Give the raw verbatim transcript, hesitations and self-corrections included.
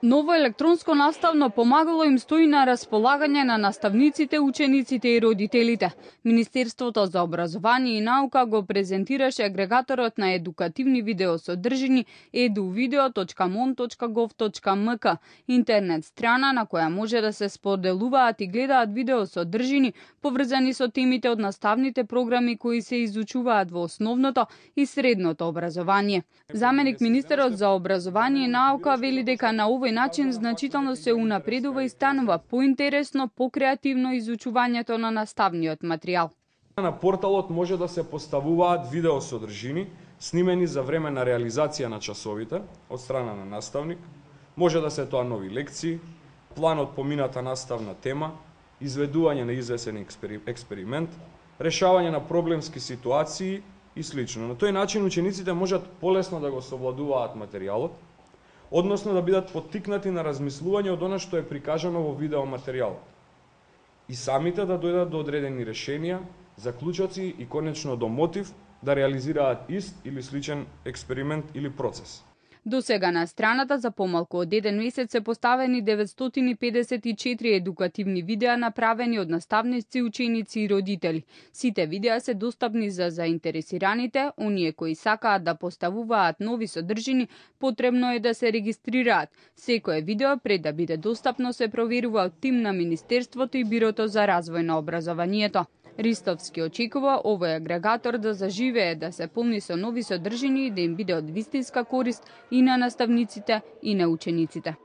Ново електронско наставно помагало им стои на располагање на наставниците, учениците и родителите. Министерството за образование и наука го презентираше агрегаторот на едукативни видеосодржини еду видео точка мон точка гов точка ем ка, интернет страна на која може да се споделуваат и гледаат видеосодржини поврзани со темите од наставните програми кои се изучуваат во основното и средното образование. Заменик министерот за образование и наука вели дека на овој начин значително се унапредува и станува поинтересно, покреативно изучувањето на наставниот материјал. На порталот може да се поставуваат видеосодржини снимени за време на реализација на часовите од страна на наставник. Може да се тоа нови лекции, план од помината наставна тема, изведување на извесен експеримент, решавање на проблемски ситуации и слично. На тој начин учениците можат полесно да го совладуваат материјалот, односно да бидат поттикнати на размислување од она што е прикажано во видеоматеријалот. И самите да дојдат до одредени решенија, заклучоци и конечно до мотив да реализираат ист или сличен експеримент или процес. До сега на страната за помалку од еден месец се поставени деветстотини педесет и четири едукативни видеа направени од наставници, ученици и родители. Сите видеа се достапни за заинтересираните, оние кои сакаат да поставуваат нови содржини, потребно е да се регистрираат. Секое видео пред да биде достапно се проверува од тим на Министерството и Бирото за развој на образованието. Ристовски очекува овој агрегатор да заживее, да се полни со нови содржини и да им биде од вистинска корист и на наставниците и на учениците.